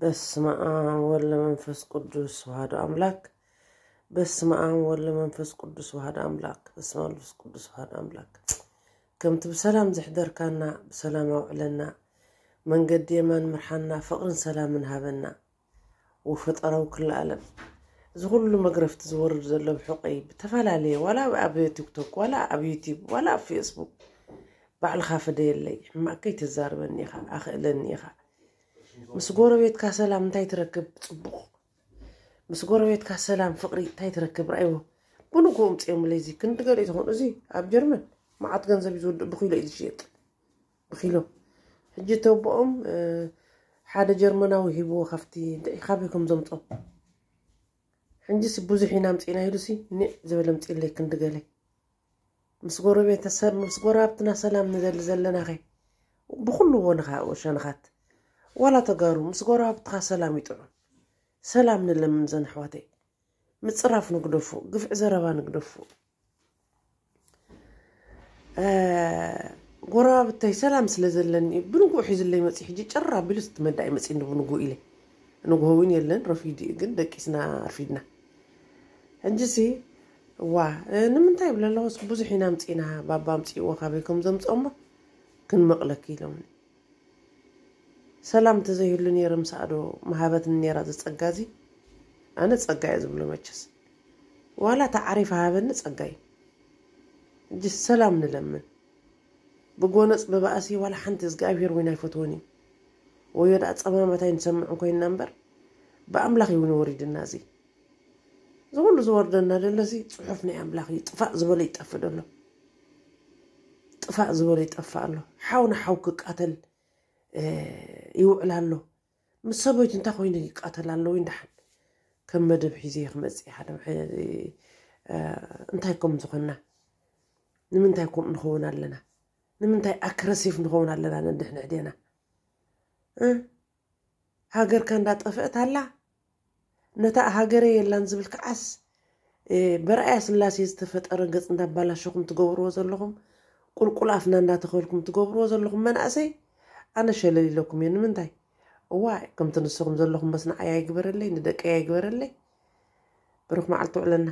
በስመ ኣብ ወወልድ ወመንፈስ ቅዱስ ወሃዱ ኣምላክ። በስመ ኣብ ወወልድ ወመንፈስ ቅዱስ ወሃዱ ኣምላክ። በስመ ኣብ መንፈስ ቅዱስ ወሃዱ ኣምላክ። ከምቲ ብሰላም ዘሕደርካና፣ ብሰላም ኣውዕለና፣ መንገዲ የማን ምርሓና፣ ፍቕርን ሰላምን ሃበና። ወፈጠራዊ ክልኣለም፣ እዚ ኩሉ መግረፍቲ ዝወርድ ዘሎ ብሕቆይ ብተፈላለየ፣ ዋላ ኣብ ቲክቶክ፣ ዋላ ኣብ ዩቲብ፣ ዋላ ኣብ ፌስቡክ፣ ባዕልኻ ፍደየለይ። ሕማቅ ከይተዛርበኒ ኢኻ፣ ኣኽእለኒ ኢኻ። ምስ ጎረቤትካ ሰላም እንታይ ትረክብ? ጽቡቕ። ምስ ጎረቤትካ ሰላም፣ ፍቕሪ እንታይ ትረክብ? ርኣይዎ። ብንግሆ እምጽኦምለይ፣ እዚ ክንዲ ገለ እዩ ዝኾኑ። እዚ ኣብ ጀርመን መዓት ገንዘብ እዩ ዝወድእ፣ ብኪሎ እዩ ዝሽየጥ። ብኪሎ። ሕጂ ተቦኦም ሓደ ጀርመናዊ ሂብዎ ካብቲ እንታይ ካበይ ከም ዘምጾ። ሕንጂሲ ብዙሕ ኢና ኣምጺእና ኢሉሲ ኒዕ ዝበለ ኣምጺእለይ ክንዲ ገለ። ምስ ጎረቤተሰብ፣ ምስ ጎረባብትና ሰላም ንደሊ ዘለናኸ ብኹሉ ወንኻ ወሸንኻት፣ ዋላ ተጋሩ ምስ ጎረባብትኻ ሰላም ይጥዑም። ሰላም ንለምን ዘን ኣሕዋተይ። ምጽራፍ ንግደፉ፣ ግፍዒ ዘረባ ንግደፉ። ጎረባብተይ ሰላም ስለ ዘለኒ ብንጉኡ ሒዝለይ መጺ። ሕጂ ጭር ኣቢሉ ስትመዳእ መጺ ብንጉኡ ኢለ። ንጉሆ እውን የለን፣ ረፊዱ እዩ፣ ግን ደቂስና ኣርፊድና። ሕጂሲ ዋ ንምንታይ ይብለ ኣለኹስ ብዙሕ ኢና ኣምጺእና፣ ባባ ኣምጺእዎ ካበይ ከም ዘምጽኦሞ ክንመቕለኪ ኢሎምኒ። ሰላም እንተዘይህሉ ነይረ ምሳእዶ ምሃበትኒ ነይራ እዚ ጸጋ እዚ። ኣነ ጸጋ እየ ዝብሎ መቸስ። ዋላ ተዓሪፈ ሃበኒ ጸጋ እዩ። ሕጂ ሰላም ንለምን። ብጎነጽ ብባእሲ ዋላ ሓንቲ እግዚኣብሔር እውን ኣይፈትዎን እዩ። ወዮ ደኣ ጸማማት ኣይንሰምዕን ኮይንና እምበር ብኣምላኽ እዩ እውን ወሪድና እዚ። እዚ ኩሉ ዝወርደና ደሎ እዚ ጽሑፍ ናይ ኣምላኽ እዩ። ጥፋእ ዝበሎ ይጠፍእ ደሎ። ጥፋእ ዝበሎ ይጠፍእ ኣሎ። ሓው ንሓው ክቃተል ይውዕል ኣሎ። ምስ ሰበይቱ እንታይ ኮይኑ ይቃተል ኣሎ ወይ? እንዳሓን ከም መደብ ሒዘ ክመጽእ ሓደ እንታይ ከም ዝኾንና፣ ንምንታይ ከምኡ ንኸውን ኣለና? ንምንታይ ኣክረሲፍ ንኸውን ኣለና? ነንድሕንሕዴና ሃገርካ እንዳጠፍአት ኣላ። ነታ ሃገረ የላን ዝብል ከዓስ በርኣያ ስላሴ ዝተፈጠረ ገጽ እንዳባላሸኹም ትገብርዎ ዘለኹም፣ ቁልቁል ኣፍና እንዳተኸልኩም ትገብርዎ ዘለኹም መናእሰይ፣ ኣነ ሸለል ኢለኩም እየ። ንምንታይ? እዋይ ከምቲ ንስኹም ዘለኹም በስ ንዓይ ኣይግበረለይ፣ ንደቀይ ኣይግበረለይ። ብሩኽ መዓልቲ ውዕለና።